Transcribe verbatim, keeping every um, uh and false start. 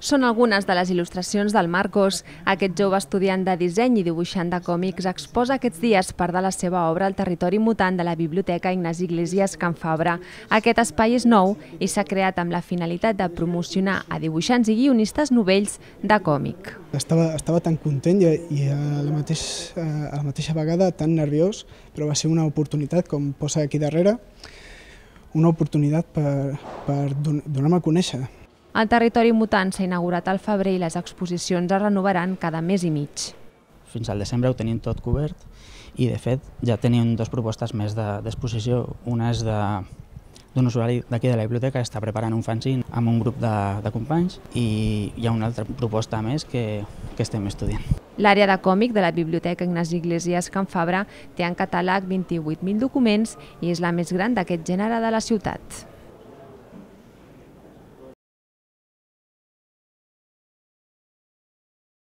Són algunes de les il·lustracions del Marcos. Aquest jove estudiant de disseny i dibuixant de còmics exposa aquests dies part de la seva obra al territori mutant de la Biblioteca Ignasi Iglésies Can Fabra. Aquest espai és nou i s'ha creat amb la finalitat de promocionar a dibuixants i guionistes novells de còmic. Estava, estava tan content i, i a, la mateix, a la mateixa vegada tan nerviós, però va ser una oportunitat, com posa aquí darrere, una oportunitat per, per donar-me a conèixer. El territori mutant s'ha inaugurat al febrer i les exposicions es renovaran cada mes i mig. Fins al desembre ho tenim tot cobert i, de fet, ja tenim dues propostes més d'exposició. Una és d'un usuari d'aquí de la biblioteca que està preparant un fanzine amb un grup de, de companys i hi ha una altra proposta més que, que estem estudiant. L'àrea de còmic de la Biblioteca Ignasi Iglésies Can Fabra té en catàleg vint-i-vuit mil documents i és la més gran d'aquest gènere de la ciutat.